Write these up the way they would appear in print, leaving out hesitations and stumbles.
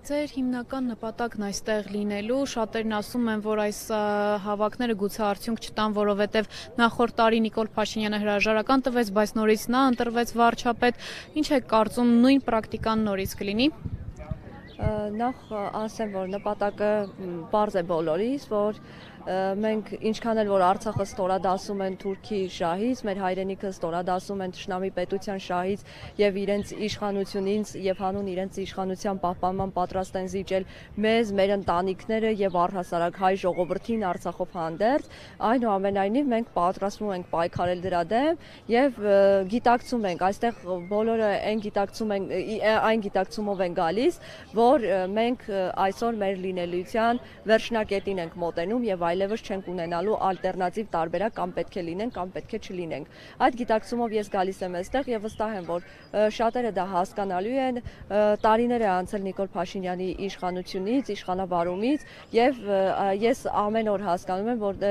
Ձեր հիմնական նպատակն այստեղ լինելու, շատերն ասում են, որ այս հավաքները գուցե արդյունք չտան, որովհետև նախորդ տարի Նիկոլ Փաշինյանը հրաժարական տվեց, բայց նորից նա ընտրվեց վարչապետ։ Ինչ եք կարծում, նույն պրակտիկան նորից կլինի։ Նախ ասեմ, որ նպատակը պարզ է բոլորիս, որ մենք ինչքան էլ որ Արցախը ստորադասում են Թուրքի շահից, մեր հայրենիքը ստորադասում են թշնամի պետության շահից եւ իրենց իշխանությունից եւ հանուն իրենց իշխանության պահպանման պատրաստ են զիջել մեզ, մեր ընտանիքները եւ առհասարակ հայ ժողովրդին Արցախով հանդերձ, այնուամենայնիվ մենք պատրաստվում ենք պայքարել դրա դեմ եւ գիտակցում ենք, այստեղ բոլորը այն գիտակցումով են գալիս, որ մենք այսօր մեր լինելիության վերջնակետին ենք մոտենում եւ այլևս չենք ունենալու ալտերնատիվ տարբերակ, կամ պետք է լինենք, կամ պետք է չլինենք։ Այդ գիտակցումով ես գալիս եմ այստեղ եւ վստահ եմ, որ շատերը դա հասկանալու են, տարիներ է անցել Նիկոլ Փաշինյանի իշխանությունից, իշխանավարումից եւ ես ամեն օր հասկանում եմ, որ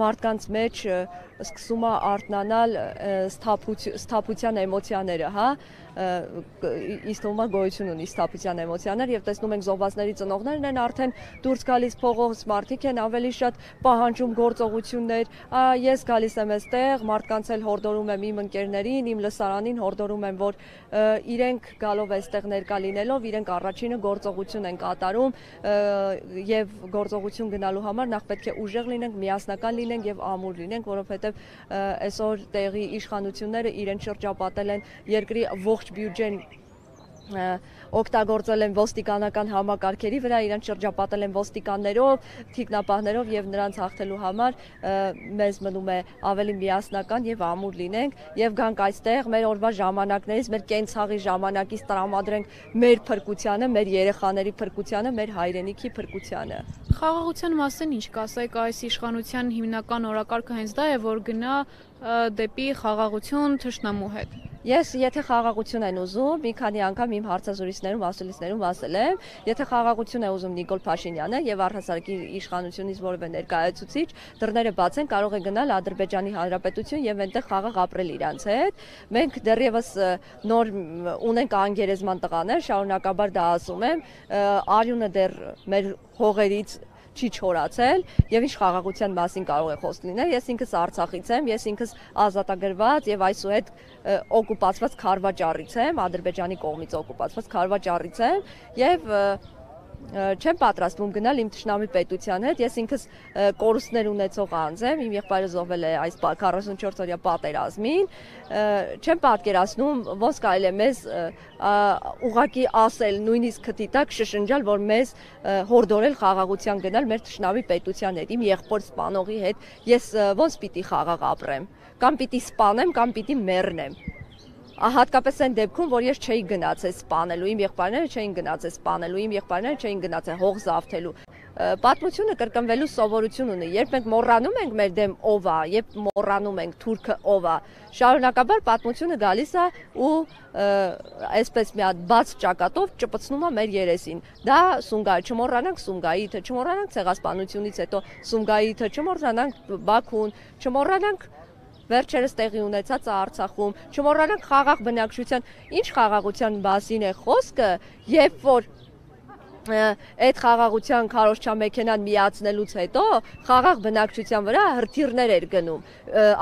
մարդկանց մեջ սկսում է արթնանալ սթափության էմոցիաները, հա, իստոմա գոյություն ունի սթափության էմոցիաներ եւ տեսնում ենք զոհվածների ծնողներն են արդեն դուրս գալիս փողոց, մարդիկ են ավելի շատ պահանջում գործողություններ, ես գալիս եմ այստեղ, մարդկանց էլ հորդորում եմ իմ ընկերներին, իմ լսարանին հորդորում եմ, որ իրենք գալով այստեղ ներկա լինելով, իրենք առաջինը գործողություն են կատարում եւ գործողություն գնալու համար նախ պետք է ուժեղ լինենք, միասնական լինենք եւ ամուր լինենք, որովհետեւ այսօր տեղի իշխանությունները իրեն շրջապատել են երկրի ողջ բյուջեն օգտագործել են ոստիկանական համակարգերի վրա, իրենց շրջապատել են ոստիկաններով, թիկնապահներով եւ նրանց հաղթելու համար մեզ մնում է ավելի միասնական եւ ամուր լինենք եւ գանք այստեղ մեր օրվա ժամանակներից, մեր կենցաղի ժամանակից տրամադրենք մեր փրկությանը, մեր երեխաների փրկությանը, մեր հայրենիքի փրկությանը։ Խաղաղության մասին ինչ կասեք, այս իշխանության հիմնական օրակարգը հենց դա է, որ գնա դեպի խաղաղություն թշնամու հետ։ Ես եթե խաղաղություն են ուզում, մի քանի անգամ իմ հարցազրույցներում, ասուլիսներում ասել եմ, եթե խաղաղություն է ուզում Նիկոլ Փաշինյանը եւ առհասարակ իշխանությունից որևէ ներկայացուցիչ, դռները բաց են, կարող է գնալ Ադրբեջանի Հանրապետություն եւ այնտեղ խաղաղ ապրել իրանց հետ։ Մենք դեռևս նոր ունենք անգերեզման տղաներ, շարունակաբար դա ասում եմ, արյունը դեռ մեր հողերից չի չորացել եւ ինչ խաղաղության մասին կարող է խոսք լինել։ Ես ինքս Արցախից եմ, ես ինքս ազատագրված եւ այսուհետ օկուպացված Քարվաճառից եմ, Ադրբեջանի կողմից օկուպացված Քարվաճառից եմ եւ չեմ պատրաստվում գնալ իմ թշնամի պետության հետ, ես ինքս կորուստներ ունեցող անձ եմ, իմ եղբայրը զոհվել է այս 44-օրյա պատերազմին, չեմ պատկերացնում ոնց կարելի է մեզ ուղղակի ասել, նույնիսկ քթի տակ շշնջալ, որ մեզ հորդորել խաղաղության գնալ մեր թշնամի պետության հետ, իմ եղբոր սպանողի հետ, ես ոնց պիտի խաղաղ ապրեմ, կամ պիտի սպանեմ, կամ պիտի մեռնեմ։ Հատկապես այն դեպքում, որ ես չէի գնացել սպանելու, իմ եղբայրները չէին գնացել սպանելու, իմ եղբայրները չէին գնացել հող զավթելու։ Պատմությունը կրկնվելու սովորություն ունի, երբ մենք մոռանում ենք մեր դեմ ով է, երբ մոռանում ենք թուրքը ով է, շարունակաբար պատմությունը գալիս է ու այսպես մի հատ բաց ճակատով ճպցնում է մեր երեսին։ Դա Սումգայի, չմոռանանք Սումգայիթը, չմոռանանք ցեղասպանությունից հետո Սումգայիթը, չմոռանանք Բաքուն, չմոռանանք վերջերս տեղի ունեցած Արցախում, չմոռանանք խաղաղ բնակչության, ինչ խաղաղության մասին է խոսքը, երբ որ այդ խաղաղության քարոզչամեքենան միացնելուց հետո խաղաղ բնակչության վրա հրթիռներ էր գնում,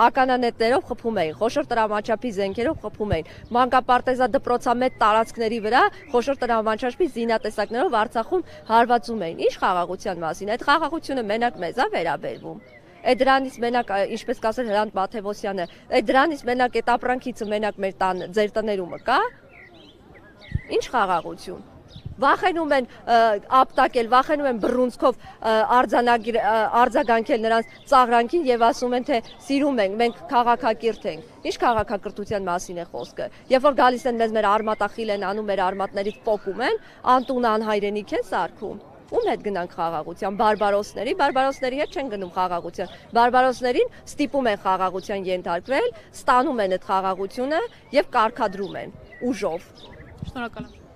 ականանետներով խփում էին, խոշոր տրամաչափի զենքերով խփում էին, մանկապարտեզա դպրոցամետ տարածքների վրա խոշոր տրամաչափի զինատեսակներով Արցախում հարվածում էին։ Ինչ խաղաղության մասին, այդ խաղաղությունը մենակ մեզ է վերաբերվում։ Այդ դրանից մենակ, ինչպես կասել Հրանտ Մաթևոսյանը, այդ դրանից մենակ այդ ապրանքիցը մենակ մեր տան ձեր տներումը կա։ Ինչ խաղաղություն։ Վախենում են ապտակել, վախենում են բռունցքով արձագանքել նրանց ծաղրանքին եւ ասում են, թե սիրում ենք, մենք քաղաքակիրթ ենք։ Ինչ քաղաքակրթության մասին է խոսքը։ Երբ որ գալիս են մեզ մեր արմատախիլ են անում, մեր արմատներից պոկում են, անտուն անհայրենիք են սարքում։ Ում հետ գնանք խաղաղության, բարբարոսների հետ չեն գնում խաղաղության, բարբարոսներին ստիպում են խաղաղության ենթարկվել, ստանում են այդ խաղաղությունը եւ կարգադրում են ուժով։ Շնորհակալ եմ։